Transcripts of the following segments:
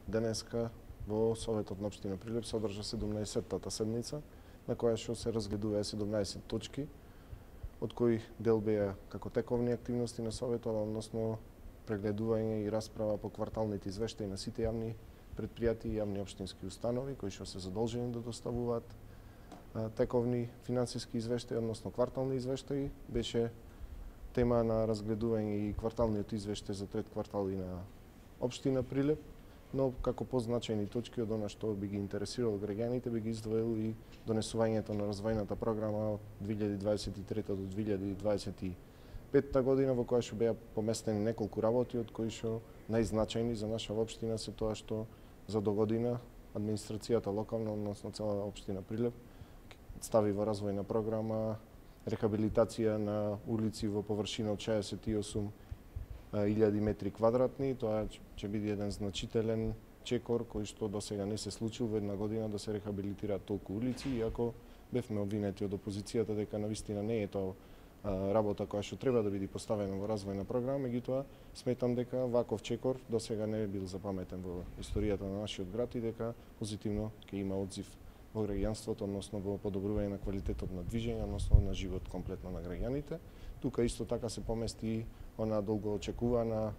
денеска во Советот на општина Прилеп се одржа 17-тата седница, на која што се разгледуваа 17 точки, од кои дел беа како тековни активности на Советот, односно прегледување и расправа по кварталните извештаи на сите јавни предпријатии и јавни општински установи, кои што се задолжени да доставуваат тековни финансиски извештаи, односно квартални извештаи. Беше тема на разгледување и кварталниот извештај за трет квартал и на општина Прилеп, но како позначајни точки од она што би ги интересирало граѓаните, би ги издвоил и донесувањето на развојната програма од 2023 до 2025 година, во која што беа поместени неколку работи, од кои што најзначајни за наша општина се тоа што за догодина администрацијата локална, односно цела општина Прилеп, стави во развојна програма рехабилитација на улици во површина од 68.000 метри квадратни. Тоа ќе биде еден значителен чекор кој што до сега не се случил во една година да се рехабилитираат толку улици, иако бевме обвинети од опозицијата дека навистина не е тоа работа која што треба да биде поставена во развојна програма, меѓутоа сметам дека ваков чекор до сега не е бил запаметен во историјата на нашиот град и дека позитивно ќе има одзив во граѓанството, односно во подобрување на квалитетот на движење, односно на живот комплетно на граѓаните. Тука исто така се помести она долго очекувана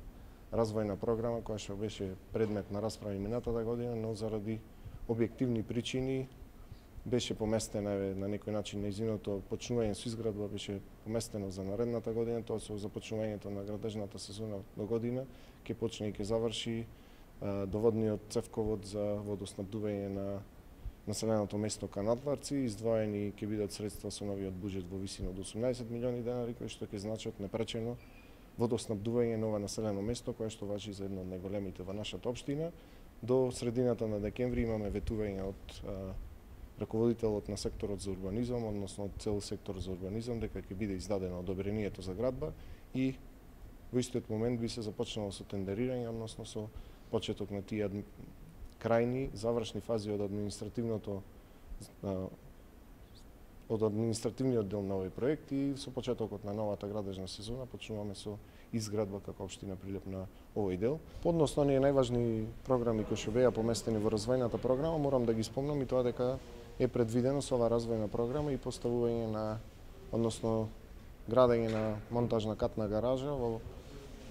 развојна програма која што беше предмет на расправа и минатата година, но заради објективни причини беше поместена на некој начин нејзиното почнување со изградба беше поместено за наредната година, тоа со започнувањето на градежната сезона до година ќе почне и ќе заврши доводниот цевковод за водоснабдување на населеното место Канатларци. Издвоени ќе бидат средства со новиот буџет во висина од 18 милиони денари, кои што ќе значат непречено водоснабдување на ова населено место, кое што важи за едно од најголемите во нашата општина. До средината на декември имаме ветување од раководителот на секторот за урбанизам, односно од цел сектор за урбанизам, дека ќе биде издадено одобрението за градба и во истиот момент би се започнало со тендерирање, односно со почеток на тие крајни, завршни фази од административниот дел на овој проект и со почетокот на новата градежна сезона почнуваме со изградба како општина Прилеп на овој дел. Подносно оние најважни програми кои што беа поместени во развојната програма, морам да ги спомнам и тоа дека е предвидено со ова развојна програма и поставување на, односно градење на монтажна катна гаража во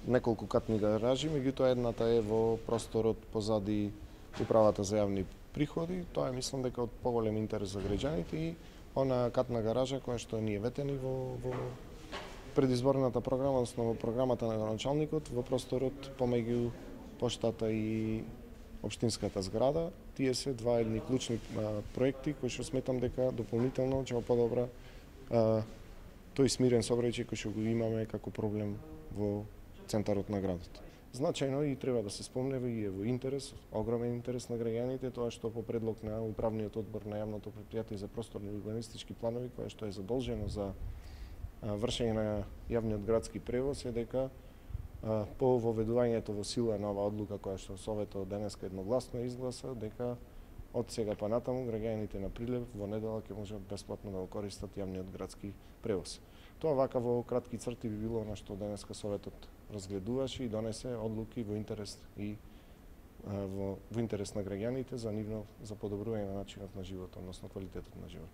неколку катни гаражи, меѓутоа едната е во просторот позади Управата за јавни приходи. Тоа е, мислам дека од поголем интерес за граѓаните и она катна гаража која што ние ветени во предизборната програма, односно во програмата на началникот, во просторот помеѓу поштата и општинската зграда. Тие се два едни клучни проекти кои што сметам дека дополнително ќе подобра тој смирен сообраќај кој што го имаме како проблем во центарот на градот. Значајно и треба да се спомне и е во интерес, огромен интерес на граѓаните, тоа што по предлог на управниот одбор на јавното претпријатие за просторни урбанистички планови, кое што е задолжено за вршење на јавниот градски превоз, е дека по воведувањето во сила на оваа одлука која што Советот денеска едногласно изгласа, дека од сега па натаму граѓаните на Прилеп во недела ќе можат бесплатно да го користат јавниот градски превоз. Тоа вака во кратки црти би било она што денеска Советот разгледуваше и донесе одлуки во интерес на граѓаните за подобрување на начинот на живот, односно квалитетот на живот.